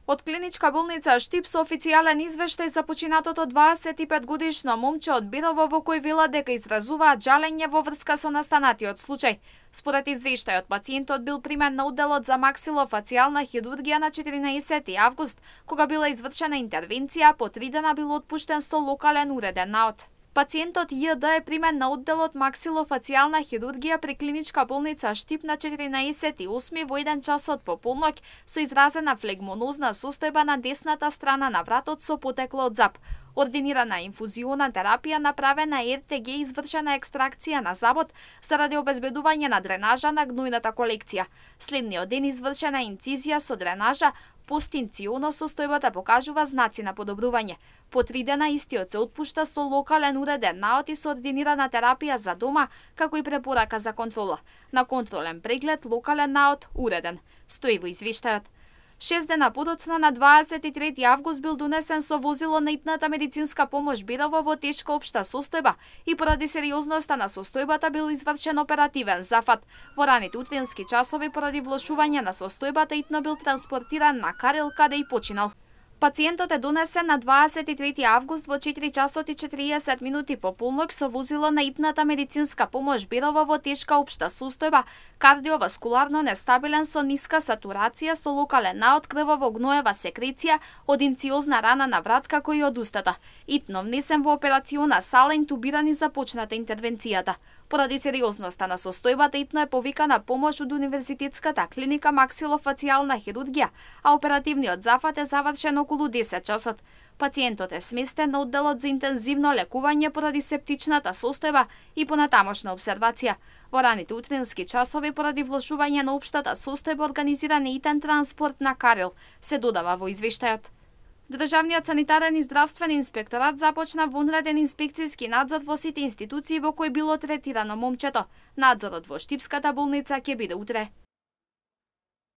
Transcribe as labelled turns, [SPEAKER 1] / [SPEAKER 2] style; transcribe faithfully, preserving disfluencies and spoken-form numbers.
[SPEAKER 1] Од клиничка болница Штип со официјален извештај за починатото дваесет и пет годишно момче од Бирово во кој вела дека изразуваат жалење во врска со настанатиот случај. Според извештајот, пациентот бил примен на одделот за максилофацијална хирургија на четиринаесети август, кога била извршена интервенција, по три дена бил отпуштен со локален уреден наод. Пациентот Ј.Д. е примен на одделот максилофацијална хирургија при клиничка болница Штип на четиринаесети осми во еден часот по полноќ со изразена флегмонозна состојба на десната страна на вратот со потекло од зап. Ординирана инфузиона терапија, направена Р Т Г, извршена екстракција на забот заради обезбедување на дренажа на гнојната колекција. Следниот ден извршена инцизија со дренажа, постинцијоно состојбата покажува знаци на подобрување. По три дена истиот се отпушта со локален уреден наод и со ординирана терапија за дома, како и препорака за контрола. На контролен преглед локален наод уреден, стои во извештајот. Шест дена подоцна на дваесет и трети август бил донесен со возило на итната медицинска помош Бирово во тешка општа состојба и поради сериозноста на состојбата бил извршен оперативен зафат. Во раните утрински часови поради влошување на состојбата итно бил транспортиран на Карел, каде и починал. Пациентот е донесен на дваесет и трети август во четири часот и четириесет минути по полноќ со возило на итната медицинска помош Бирово во тешка општа состојба, кардиоваскуларно нестабилен со ниска сатурација со локален наод, крваво-гноева секреција, од инциозна рана на врат како и од устата. Итно внесен во операциона сала, интубиран и започната интервенцијата. Поради сериозноста на состојбата итно е повикана помош од Универзитетската клиника максилофацијална хирургија, а оперативниот зафат е завршен околу десет часот. Пациентот е сместен на одделот за интензивно лекување поради септичната состојба и понатамошна обсервација. Во раните утрински часови поради влошување на општата состојба организиран е итен транспорт на Карел, се додава во извештајот. Државниот санитарен и здравствен инспекторат започна вонреден инспекцијски надзор во сите институции во кои било третирано момчето. Надзорот во Штипската болница ќе биде утре.